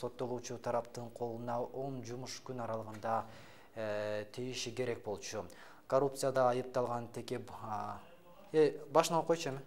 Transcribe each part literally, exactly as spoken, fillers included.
соттолуучу тараптын колуна он жумуш күн аралыгында тийиши керек болчу. Коррупцияда айыпталган теке э башына койчу эми.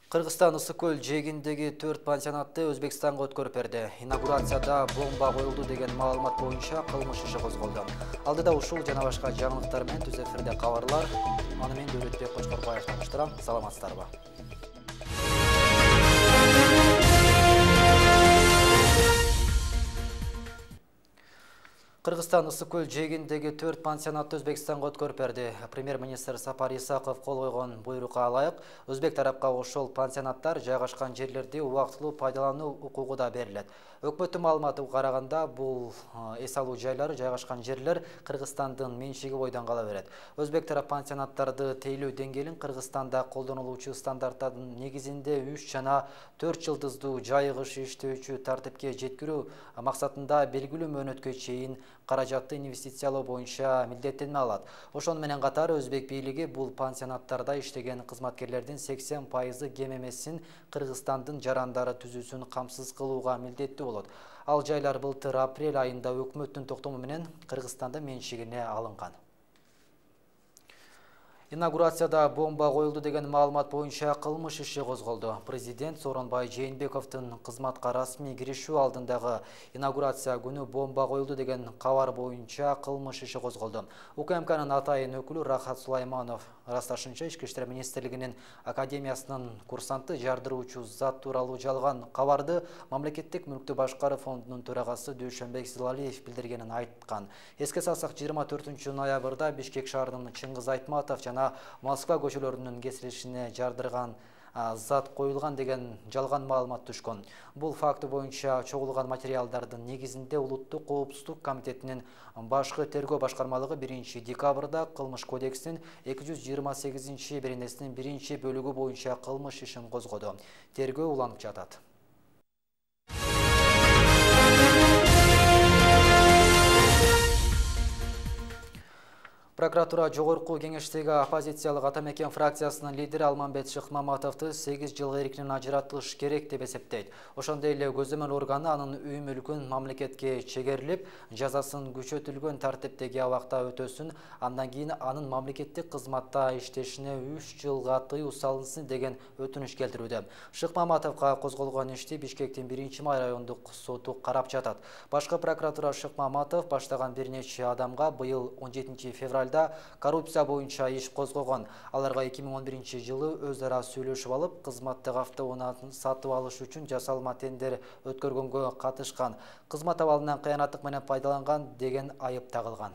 Кыргызстан Ысык-Көл жээгиндеги төрт пансионатты Өзбекстанга өткөрүп берди. Инаугурацияда бомба коюлду деген маалымат боюнча кылмыш иши козголду. Алдыда ушул жана башка жаңылыктар менен түз эфирде кабарлар. Аны мен Дөөлөтбек Кочкорбаев таныштырам. Саламатсыздарбы? Кыргызстан Ысык-Көл жээгиндеги төрт пансионатты Өзбекстанга өткөрүп берди. Премьер-министр Сапар Исаков кол койгон буйрукка ылайык, өзбек тарапка ошол пансионаттар жайгашкан жерлерди убактылуу пайдалануу укугу да берилет. Өкмөттүн маалыматына караганда, бул эс алуу жайлары жайгашкан жерлер Кыргызстандын менчиги бойдон кала берет. Өзбек тарап пансионаттарды тейлөө деңгээлин Кыргызстанда колдонулуучу стандарттардын негизинде үч жана төрт жылдыздуу жайыгыш иштөөчү тартипке жеткирүү максатында белгилүү мөөнөткө чейин каражатты инвестициялоо боюнча милдеттенме алат. Ошону менен катар өзбек бийлиги бул пансионаттарда иштеген кызматкерлердин сексен пайызы кем эмесин Кыргызстандын жарандары түзүүсүн камсыз кылууга милдеттүү болот. Ал жайлар былтыр апрель айында өкмөттүн токтому менен Кыргызстандын менчигине алынган. Инаугурацияда бомба коюлду деген маалымат боюнча кылмыш иши козголду. Президент Сооронбай Жээнбековдун кызматка расмий киришүү алдындагы инаугурация күнү бомба коюлду деген кабар боюнча кылмыш иши козголду. УКМКнын атайын өкүлү Рахат Сулайманов ырасташынча Ички иштер министрлигинин академиясынын курсанты жардыруучу зат тууралуу жалган кабарды Мамлекеттик мүлктү башкаруу фондунун төрагасы Дүйшөнбек Силалиев билдиргенин айткан. Эске салсак, жыйырма төртүнчү ноябрда Бишкек шаарынын Чыңгыз Айтматов жана Москва көчөлөрүнүн кесилишине жардырган зат коюлган деген жалган маалымат түшкөн. Бул факты боюнча чогулган материалдардын негизинде Улуттук коопсуздук комитетинин башкы тергөө башкармалыгы биринчи декабрда Кылмыш кодексинин эки жүз жыйырма сегизинчи беренесинин биринчи бөлүгү боюнча кылмыш ишин козгоду. Тергөө уланып жатат. Прокуратура жогорку кеңештеги оппозициялык Атамекен фракциясынын лидери Алмамбет Шыкмаматовду сегиз жылга эркинен ажыратылыш керек деп эсептейт. Ошондой эле көзөмөл органы анын үй мүлкүн мамлекетке чегерилип, жазасын күчөтүлгөн тартиптеги абакта өтөсүн, андан кийин анын мамлекеттик кызматта иштешине үч жылга тыюу салынсын деген өтүнүч келтирүүдө. Шыкмаматовго козголгон ишти Бишкектин биринчи май райондук соту карап жатат. Башкы прокуратура Шыкмаматов баштаган бир нече адамга быйыл он жетинчи февралда коррупция боюнча иш козгогон. Аларга эки миң он биринчи жылы өз ара сүйлөшүп алып, кызматтык автоунааны сатып алыш үчүн жасалма тендер өткөргөнгө катышкан, кызмат абалынан кыянаттык менен пайдаланган деген айып тагылган.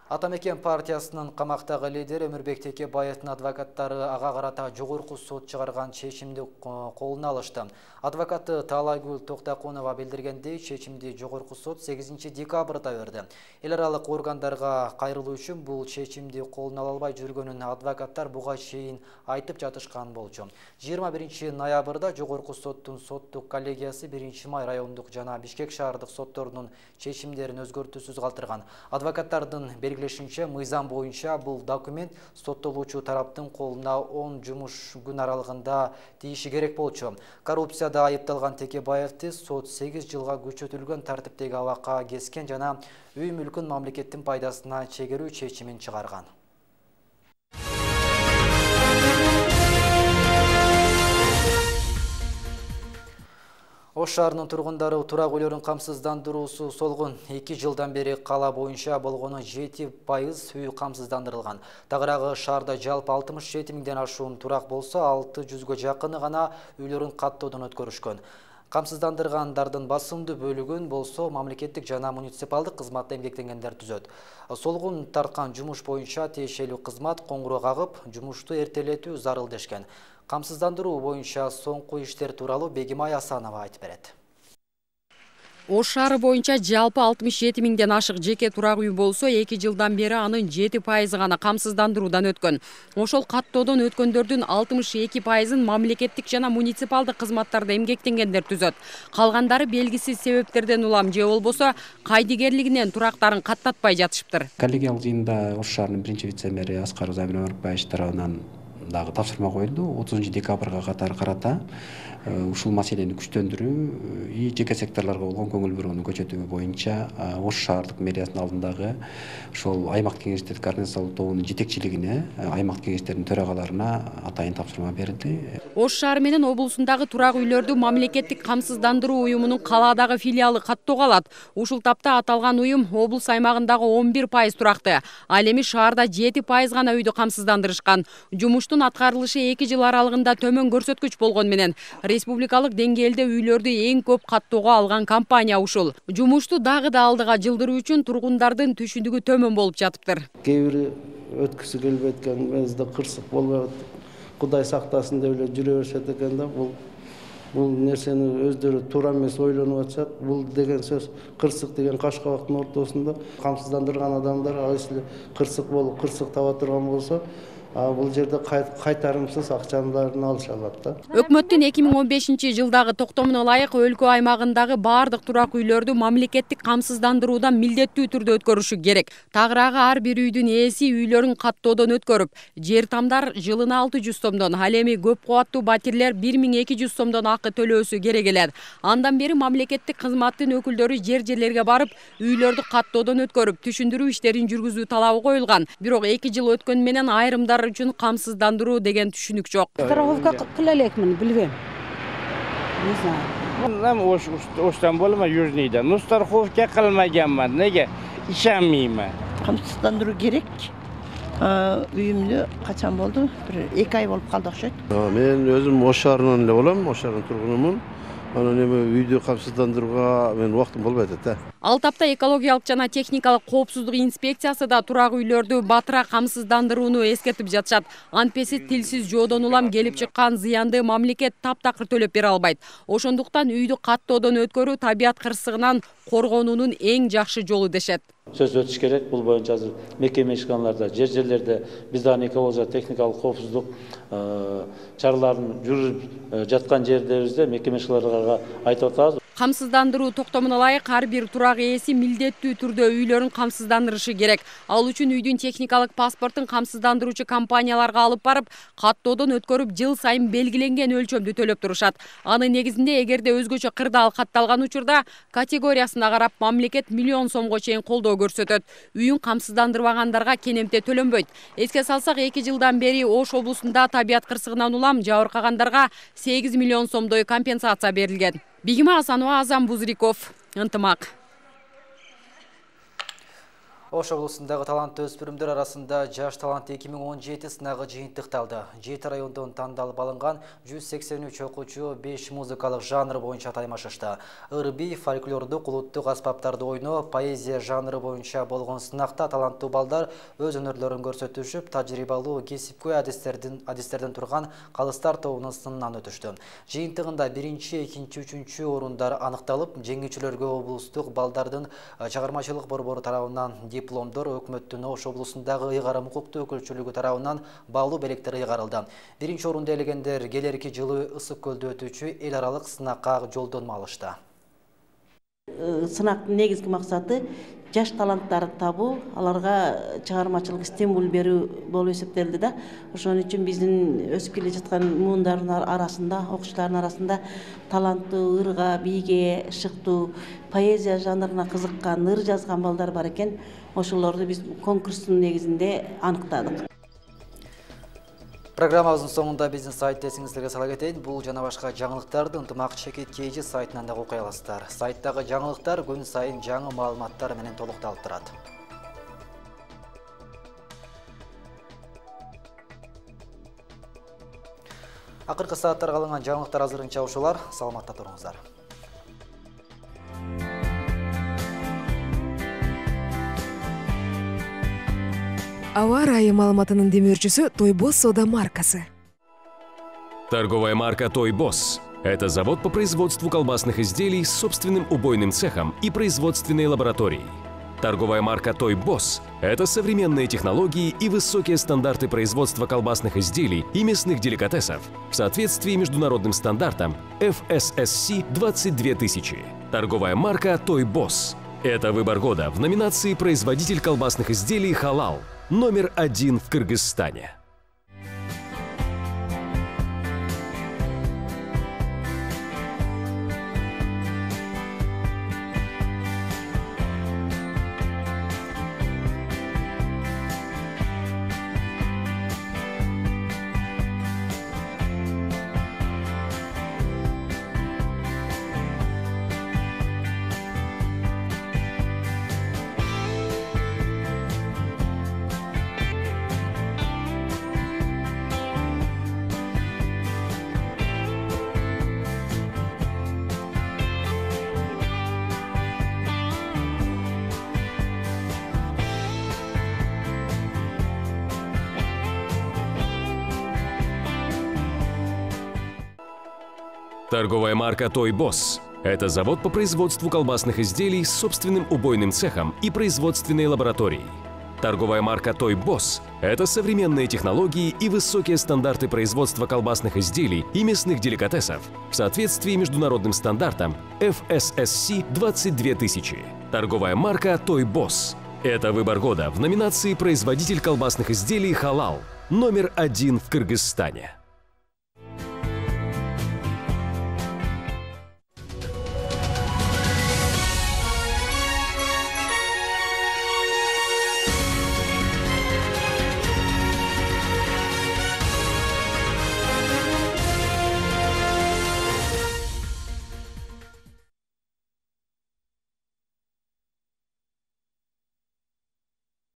Атамекен партиясынын камактагы лидери Өмүрбек Текебаевдин адвокаттары ага карата жогорку сот чыгарган чечимди колуна алышты. Адвокаты Таалайгүл Токтакунова билдиргендей, чечимди жогорку сот сегизинчи декабрда берди. Эл аралык органдарга кайрылуу үчүн бул чечимди колуна ала албай жүргөнүн адвокаттар буга чейин айтып жатышкан болчу. жыйырма биринчи ноябрда жогорку соттун соттук коллегиясы биринчи май райондук жана Бишкек шаардык сотторунун чечимдерин өзгөртүүсүз калтырган. Адвокаттардын белгилешинче, мыйзам боюнча бул документ соттолуучу тараптын колуна он жумуш күн аралыгында тийиши керек болчу. Коррупцияда айыпталган Текебаевди сот сегиз жылга күчөтүлгөн тартиптеги абакка кескен жана үй мүлкүн мамлекеттин пайдасына чегерүү чечимин чыгарган. Ош шаарынын тургундары турак үйлөрүн камсыздандыруусу солгун. эки жылдан бери кала боюнча болгону жети пайыз үй камсыздандырылган. Тагыраагы шаарда жалпы алтымыш жети миңден ашуун турак болсо, алты жүзгө жакыны гана үйлөрүн каттоодон өткөрүшкөн. Камсыздандыргандардын басымдуу бөлүгүн болсо мамлекеттик жана муниципалдык кызматта эмгектенгендер түзөт. Солгун тарткан жумуш боюнча тиешелүү кызмат коңгуроо кагып, жумушту эртелетүү зарыл дешкен. Камсыздандыруу боюнча соңку иштер тууралуу Бегимай Асанова айтып берет. Ош шаары боюнча жалпы алтымыш жети миңден ашык жеке турак үй болсо, эки жылдан бери анын жети пайызы гана камсыздандыруудан өткөн. Ошол каттоодон өткөндөрдүн алтымыш эки пайызын мамлекеттик жана муниципалдык кызматтарда эмгектенгендер түзөт. Калгандары белгисиз себептерден улам же болбосо кайдыгерлигинен турактарын каттатпай жатышыптыр. Коллегиялык жыйында Ош шаарынын биринчи вице-мэри Аскар Замир Омарбаевич тарабынан дагы тапшырма коюлду. отузунчу декабрга катар карата ушул маселени күчтөндүрүү и жеке секторлорго болгон көңүл бурууну көчөтүү боюнча Ош шаардык мэриясынын алдындагы ошол аймак кеңештердин координациялык тобунун жетекчилигине, аймак кеңештердин төрагаларына атайын тапшырма берилди. Ош шаары менен облусундагы турак үйлөрдү мамлекеттик камсыздандыруу уюмунун калаадагы филиалы каттоого алат. Ушул тапта аталган уюм облус аймагындагы он бир пайыз туракты, ал эми шаарда жети пайыз гана үйдү камсыздандырышкан. Жумуштун аткарылышы эки жыл аралыгында төмөн көрсөткүч болгон менен республикалык деңгээлде үйлөрдү эң көп каттоого алган компания ушул. Жумушту дагы да алдыга жылдыруу үчүн тургундардын түшүнүгү төмөн болуп жатыптыр. Кээ бири өткүсү келбей экен, мезде кырсык болбой атат. Кудай сактасын деп эле жүрө беришет экен да. Бул бул нерсени өздөрү туура эмес ойлонуп атышат. Бул деген сөз кырсык деген кашкабактын ортосунда камсыздандырган адамдар айсыл кырсык болуп, кырсык таба турган болсо, бул жерде кайтарымсыз акчаларын алыша алат да. Өкмөттүн эки миң он бешинчи жылдагы токтомуна ылайык өлкө аймагындагы баардык турак үйлөрдү мамлекеттик камсыздандыруудан милдеттүү түрдө өткөрүшү керек. Тагыраагы ар бир үйдүн ээси үйлөрүн каттоодон өткөрүп, жер тамдар жылына алты жүз сомдон, ал эми көп кубаттуу батирлер бир миң эки жүз сомдон акы төлөөсү керек эле. Андан бери мамлекеттик кызматтын өкүлдөрү жер-жерлерге барып, үйлөрдү каттоодон өткөрүп, түшүндүрүү иштерин жүргүзүү талабы коюлган. Бирок эки жыл өткөн менен айрымдар үчүн камсыздандыруу деген түшүнүк жок. Страховка кыла элекмин, билбейм. Не знаю. Нам Ош Оштан болма Южныйдан. Ну страховка кылмаганмын. Неге? Ишенмеймин. Камсыздандыруу керек. Үйүмдө качан болду? Бир эки ай болуп калды окшойт. Мен өзүм Ош шаарынан эле болом, Ош шаарынын тургунумун. Анан эми үйдү камсыздандырууга мен убактым болбой атат да. Ал тапта экологиялык жана техникалык коопсуздук инспекциясы да турак үйлөрдү батыра камсыздандырууну эскертип жатышат. Антпеси тилсиз жоодон улам келип чыккан зыянды мамлекет таптакыр төлөп бере албайт. Ошондуктан үйдү каттоодон өткөрүү табият кырсыгынан коргонуунун эң жакшы жолу дешет. Сөз өтүш керек. Бул боюнча азыр мекеме ишканаларда, жер-жерлерде биз дагы экология техникалык коопсуздук чараларын жүрүп жаткан жердерибизде мекеме ишканаларга айтып атабыз. Камсыздандыруу токтомуна ылайык ар бир турак ээси милдеттүү түрдө үйлөрүн камсыздандырышы керек. Ал үчүн үйдүн техникалык паспортун камсыздандыруучу компанияларга алып барып, каттоодон өткөрүп, жыл сайын белгиленген өлчөмдү төлөп турушат. Анын негизинде эгерде өзгөчө кырдаал катталган учурда категориясына карап мамлекет миллион сомго чейин колдоо көрсөтөт. Үйүн камсыздандырбагандарга кенемте төлөнбөйт. Эске салсак, эки жылдан бери Ош облусунда табият кырсыгынан улам жабыркагандарга сегиз миллион сомдой компенсация берилген. Бигима Асанова, Азам Бузриков, ынтымак. Ош облусундагы таланттуу өспүрүмдөр арасында жаш талант эки миң он жети сынагы жыйынтыкталды. жети райондон тандалып алынган жүз сексен үч окуучу беш музыкалык жанр боюнча таймашышты. Ыр-би, фольклордук, улуттук аспаптарды ойноо, поэзия жанры боюнча болгон сынакта таланттуу балдар өз өнөрлөрүн көрсөтүшүп, тажрыйбалуу кесипкөй адистердин адистерден турган калыстар тобунун сынынан өтүштү. Жыйынтыгында биринчи, экинчи, үчүнчү орундар аныкталып, жеңүүчүлөргө облустук балдардын чыгармачылык борбору тарабынан дипломдор, өкмөттүн Ош облусундагы ыйгарым укуктуу өкүлчүлүгү тарабынан баалуу белектер ыйгарылды. Биринчи орунду ээлегендер келерки жылы Ысык көлдө өтүүчү эл аралык сынакка жолдонма алышты. Сынактын негизги максаты жаш таланттарды табуу, аларга чыгармачылык стимул берүү болуп эсептелди да. Ошон үчүн биздин өсүп келе жаткан муундардын арасында, окуучулардын арасында таланттуу, ырга, бийге, шыктуу, поэзия жанрына кызыккан, ыр жазган балдар бар экен. Ошолорду биз конкурстун негизинде аныктадык. Программабыздын соңунда биздин сайтты эсиңиздерге сала кетейин. Бул жана башка жаңылыктарды ынтымак чекит кей жи сайтынан да окуй аласыздар. Сайттагы жаңылыктар күн сайын жаңы маалыматтар менен толукталып турат. Акыркы сааттарга алынган жаңылыктар азырынча ушулар. Саламатта туруңуздар. Аба ырайы маалыматынын демөөрчүсү Тойбос соода маркасы. Торговая марка Тойбос Это завод по производству колбасных изделий с собственным убойным цехом и производственной лабораторией. Торговая марка Той Босс – это современные технологии и высокие стандарты производства колбасных изделий и мясных деликатесов в соответствии международным стандартам эф эс эс си двадцать две тысячи. Торговая марка Той Босс – это выбор года в номинации «Производитель колбасных изделий Халал» номер один в Кыргызстане. Торговая марка Той Босс – это завод по производству колбасных изделий с собственным убойным цехом и производственной лабораторией. Торговая марка Той Босс – это современные технологии и высокие стандарты производства колбасных изделий и мясных деликатесов в соответствии международным стандартам эф эс эс си двадцать две тысячи. Торговая марка Той Босс – это выбор года в номинации «Производитель колбасных изделий Халал» номер один в Кыргызстане.